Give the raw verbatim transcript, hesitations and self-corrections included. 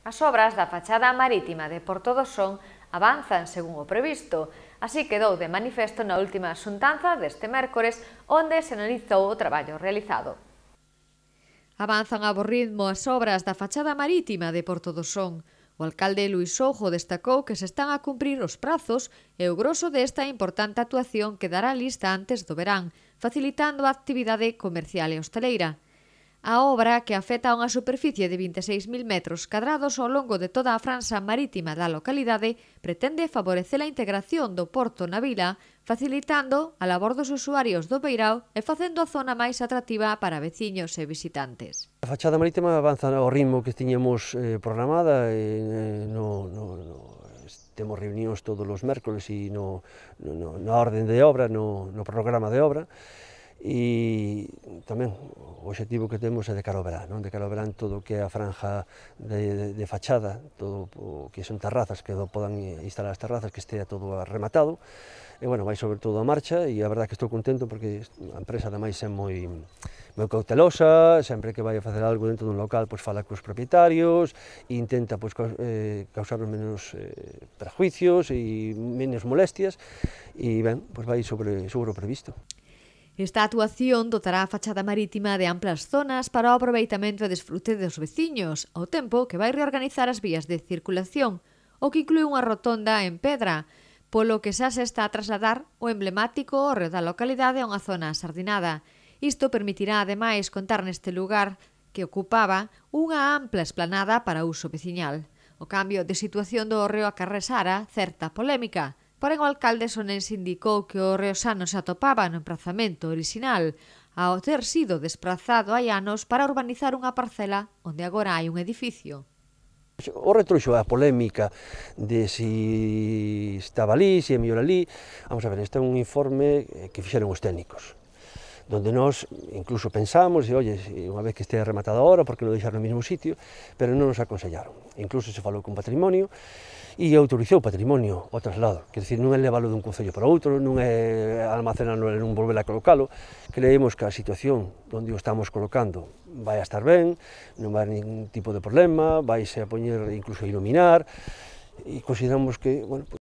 As obras da fachada marítima de Porto do Son avanzan según o previsto, así quedou de manifesto na última xuntanza deste mércores, onde se analizou o traballo realizado. Avanzan a bo ritmo as obras da fachada marítima de Porto do Son. O alcalde Luís Soujo destacou que se están a cumprir os prazos e o groso desta importante actuación quedará lista antes do verán, facilitando a actividade comercial e hosteleira. A obra, que afecta a unha superficie de vinte e seis mil metros cadrados ao longo de toda a franxa marítima da localidade, pretende favorecer a integración do porto na vila, facilitando a labor dos usuarios do Beirao e facendo a zona máis atractiva para veciños e visitantes. A fachada marítima avanza ao ritmo que tiñamos eh, programada, eh, no, no, no, temos reunións todos os mércoles e no, no, na orden de obra, no, no programa de obra, e tamén o obxectivo que temos é de cara ao verán, non? De cara ao verán todo o que é a franja de, de, de fachada, todo o que son terrazas, que podan instalar as terrazas, que estea todo rematado, e bueno, vai sobre todo a marcha, e a verdade que estou contento porque a empresa ademais é moi, moi cautelosa, sempre que vai a facer algo dentro dun local, pois fala cos propietarios, e intenta pois, causar menos eh, prejuicios e menos molestias, e ben, pois vai sobre, sobre o previsto. Esta actuación dotará a fachada marítima de amplas zonas para o aproveitamento e desfrute dos veciños, ao tempo que vai reorganizar as vías de circulación, o que inclúe unha rotonda en pedra, polo que xa se está a trasladar o emblemático hórreo da localidade a unha zona sardinada. Isto permitirá, ademais, contar neste lugar que ocupaba unha ampla esplanada para uso veciñal. O cambio de situación do hórreo acarrexara certa polémica, porén o alcalde sonense indicou que o hórreo xa non se atopaba no emprazamento orixinal, ao ter sido desprazado hai anos para urbanizar unha parcela onde agora hai un edificio. O retrouxo a polémica de si estaba ali, si é mellor ali. Vamos a ver, este é un informe que fixeron os técnicos, donde nós incluso pensamos, e oye, unha vez que estea rematada a obra, porque non deixar no mesmo sitio, pero non nos aconsellaron. Incluso se falou con patrimonio, e autorizou o patrimonio ao traslado, que decir, non é leválo dun concello para outro, non é almacenarlo e non volver a colocalo. Creemos que a situación onde o estamos colocando vai a estar ben, non vai haber ningún tipo de problema, vai se a poñer incluso a iluminar, e consideramos que, bueno,